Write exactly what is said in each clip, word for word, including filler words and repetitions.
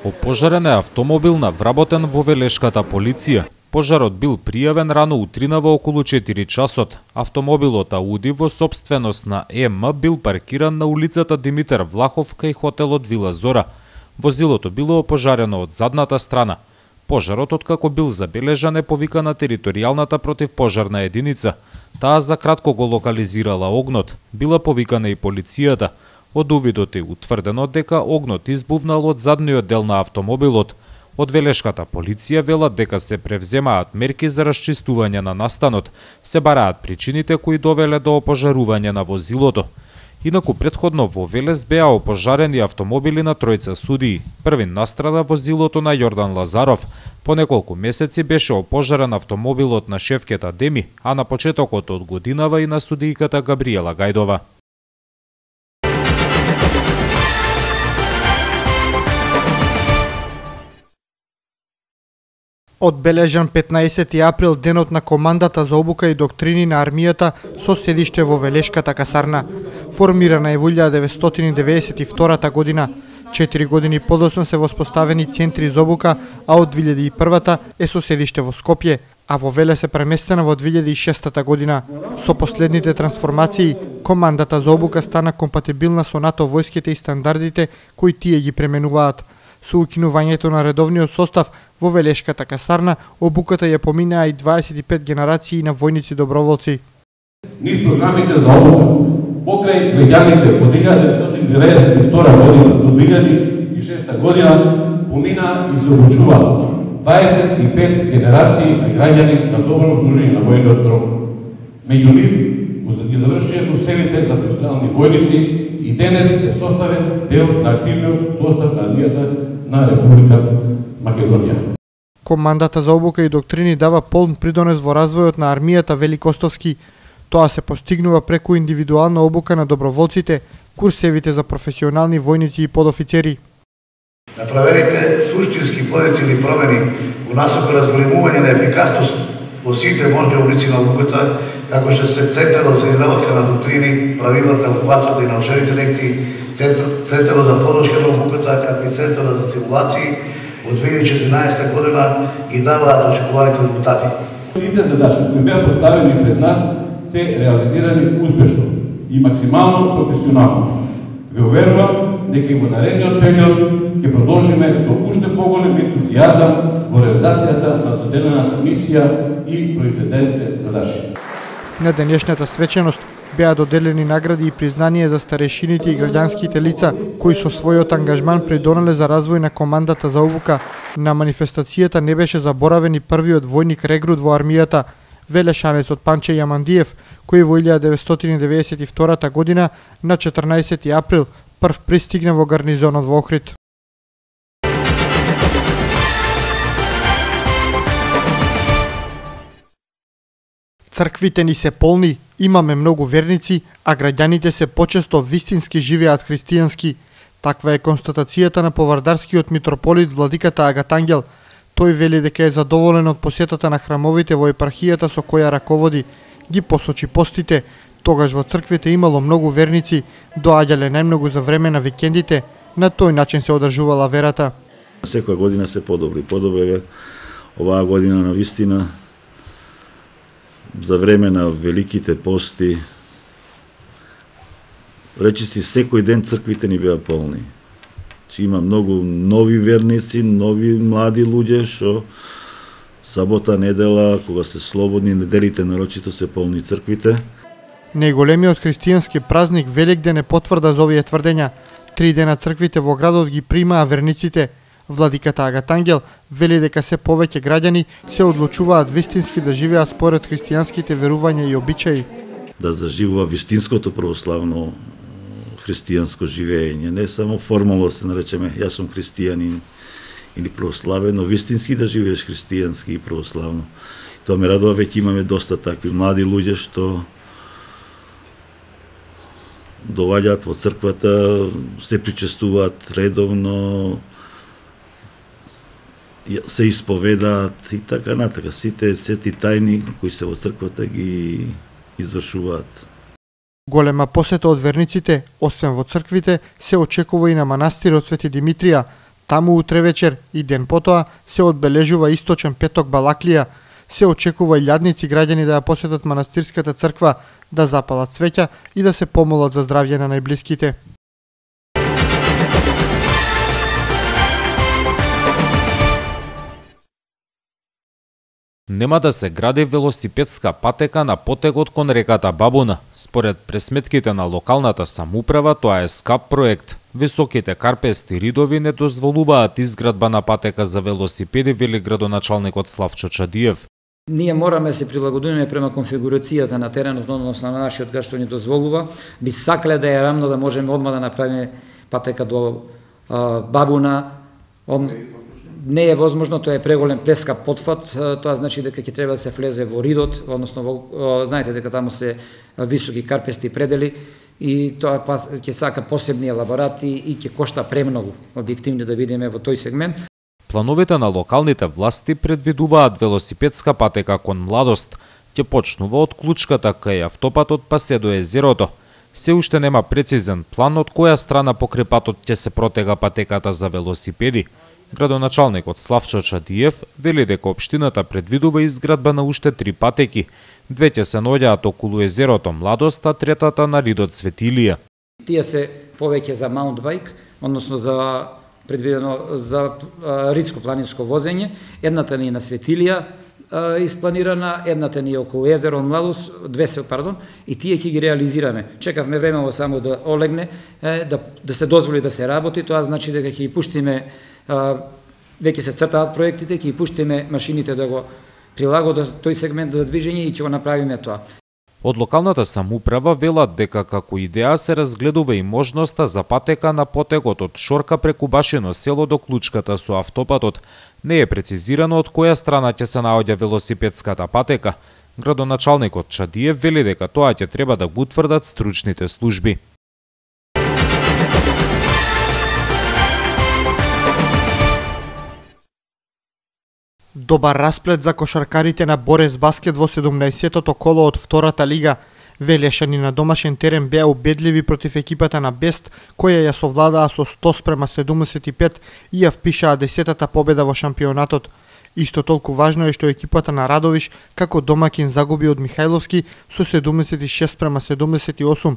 Опожарен е автомобил на вработен во Велешката полиција. Пожарот бил пријавен рано утринава околу четири часот. Автомобилот Ауди во сопственост на Е М бил паркиран на улицата Димитар Влахов кај хотелот Вила Зора. Возилото било опожарено од задната страна. Пожарот, откако бил забележан, е повикана територијалната противпожарна единица. Таа за кратко го локализирала огнот. Била повикана и полицијата. Од увидот е утврдено дека огнот избувнал од задниот дел на автомобилот. Од Велешката полиција велат дека се превземаат мерки за расчистување на настанот, се бараат причините кои довеле до опожарување на возилото. Инаку претходно во Велес беа опожарени автомобили на тројца судии. Првин настрада возилото на Јордан Лазаров. По неколку месеци беше опожарен автомобилот на шефкета Деми, а на почетокот од годинава и на судијката Габриела Гајдова. Одбележан петнаесети април, денот на командата за обука и доктрини на армијата со седиште во Велешката касарна. Формирана е во илјада деветстотини деведесет и втора година. Четири години подоцна се воспоставени центри за обука, а од две илјади и прва е со седиште во Скопје, а во Велес се преместена во две илјади и шеста година. Со последните трансформации, командата за обука стана компатибилна со НАТО војските и стандардите кои тие ги пременуваат. Со укинувањето на редовниот состав во Велешката касарна, обуката ја поминаа и дваесет и пет генерации на војници доброволци. Низ програмите за обука, покрај граѓаните од илјада деветстотини деведесет и втора година до две илјади и шеста година, помина и се обучува дваесет и пет генерации на граѓани на добро служење на војниот рок. Меѓу нив ги завршија курсевите за професионални војници и денес е составен дел на активниот состав на армијата на Република Македонија. Командата за обука и доктрини дава полн придонес во развојот на армијата Великостовски. Тоа се постигнува преку индивидуална обука на доброволците, курсевите за професионални војници и подофицери. Направените суштински позитивни промени во насока разголемување на ефикасност во сите можни облици на обуката, како што се Центарот за изработка на доктрини, правилата, упатствата и научените лекции, Центарот за подршка на обуката, како и Центарот за симулации, од две илјади и четиринаесета година ги даваат очекуваните резултати. Сите задачи кои беа поставени пред нас се реализирани успешно и максимално професионално. Ве уверувам дека и во наредниот период ќе продолжиме со уште поголем ентузијазам во реализацијата на доделената мисија и произведените задачи. На денешната свеченост беа доделени награди и признание за старешините и граѓанските лица кои со својот ангажман придонеле за развој на командата за обука. На манифестацијата не беше заборавен и првиот војник регрут во армијата, велешанецот Панче Јамандиев, кој во илјада деветстотини деведесет и втора година на четрнаесети април прв пристигна во гарнизонот во Охрид. Црквите ни се полни, имаме многу верници, а граѓаните се почесто вистински живеат христијански. Таква е констатацијата на повардарскиот митрополит владиката Агатангел. Тој вели дека е задоволен од посетата на храмовите во епархијата со која раководи. Ги посочи постите, тогаш во црквите имало многу верници, доаѓале најмногу за време на викендите, на тој начин се одржувала верата. Секоја година се подобри, подобри оваа година на вистина. За време на великите пости, речиси секој ден црквите ни беа полни. Че има многу нови верници, нови млади луѓе што сабота, недела, кога се слободни, неделите нарочито се полни црквите. Најголемиот христијански празник Великден е потврда за овие тврдења. Три дена црквите во градот ги примаа верниците. Владиката Агатангел вели дека се повеќе граѓани се одлучуваат вистински да живеат според христијанските верувања и обичаи. Да заживува вистинското православно христијанско живење, не само формално се наречеме јас сум христијанин или православен, но вистински да живееш христијански и православно. Тоа ме радува, веќе имаме доста такви млади луѓе што доваѓаат во црквата, се причестуваат редовно, се исповедаат и така натака. Сите сети тајни кои се во црквата ги извршуваат. Голема посета од верниците, освен во црквите, се очекува и на манастирот Свети Димитрија. Таму утре вечер и ден потоа се одбележува Источен петок Балаклија. Се очекува илјадници граѓани да ја посетат манастирската црква, да запалат цвеќа и да се помолат за здравје на најблиските. Нема да се гради велосипедска патека на потегот кон реката Бабуна. Според пресметките на локалната самоуправа, тоа е скап проект. Високите карпести ридови не дозволуваат изградба на патека за велосипеди, вели градоначалникот Славчо Чадиев. Ние мораме да се прилагодиме према конфигурацијата на теренот, односно на нашиот кај што ни дозволува. Би сакале да е рамно да можеме одма да направиме патека до а, Бабуна. Он... Не е возможно, тоа е преголем прескап потфат, тоа значи дека ќе треба да се влезе во ридот, односно во, знаете дека таму се високи карпести предели и тоа ќе сака посебни елаборати и ќе кошта премногу, објективно да видиме во тој сегмент. Плановите на локалните власти предвидуваат велосипедска патека кон Младост. Ќе почнува од Клучката кај автопатот па се до езерото. Се уште нема прецизен план од која страна покрај патот ќе се протега патеката за велосипеди. Градоначалникот Славчо Чадиев вели дека општината предвидува изградба на уште три патеки. Две ќе се наоѓаат околу езерото Младост, а третата на ридот Светилија. Тие се повеќе за маунтбајк, односно за предвидено за ридско планинско возење. Едната ни е на Светилија испланирана, едната ни е околу езеро Младост, две се, пардон, и тие ќе ги реализираме. Чекавме времево само да олегне, да, да се дозволи да се работи, тоа значи дека ќе ги пуштиме, веќе се цртаат проектите, ќе ги пуштиме машините да го прилагодат тој сегмент за движење и ќе го направиме тоа. Од локалната самоуправа велат дека како идеја се разгледува и можноста за патека на потегот од Шорка преку Башино село до Клучката со автопатот. Не е прецизирано од која страна ќе се наоѓа велосипедската патека. Градоначалникот Чадиев вели дека тоа ќе треба да го утврдат стручните служби. Добар расплет за кошаркарите на Борез Баскет во седумнаесеттото коло од втората лига. Велешани на домашен терен беа убедливи против екипата на Бест, која ја совладаа со сто спрема седумдесет и пет и ја впишаа десетата победа во шампионатот. Исто толку важно е што екипата на Радовиш како домакин загуби од Михајловски со седумдесет и шест спрема седумдесет и осум.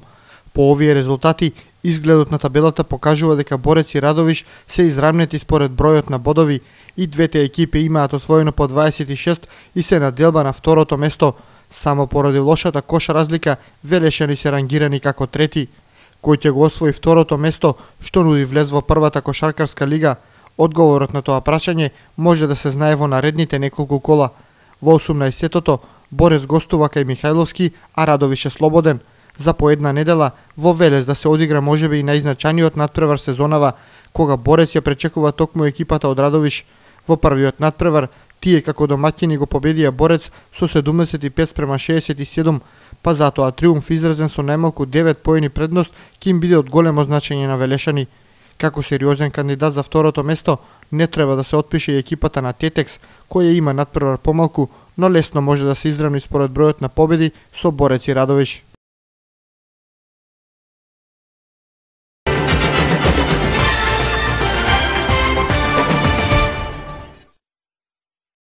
По овие резултати, изгледот на табелата покажува дека Борец и Радовиш се изравнети според бројот на бодови и двете екипи имаат освоено по дваесет и шест и се на делба на второто место. Само поради лошата кош разлика, Велешани се рангирани како трети. Кој ќе го освои второто место, што нуди влез во првата кошаркарска лига? Одговорот на тоа прашање може да се знае во наредните неколку кола. Во осумнаесеттото Борец гостува кај Михајловски, а Радовиш е слободен. За по една недела во Велес да се одигра можеби и најзначајниот натпревар сезонава, кога Борец ја пречекува токму екипата од Радовиш. Во првиот натпревар тие како домаќини го победија Борец со седумдесет и пет спрема шеесет и седум, па затоа триумф изразен со најмалку девет поени предност ќе им биде од големо значење на Велешани. Како сериозен кандидат за второто место не треба да се отпише и екипата на Тетекс, која има натпревар помалку, но лесно може да се изравни според бројот на победи со Борец и Радовиш.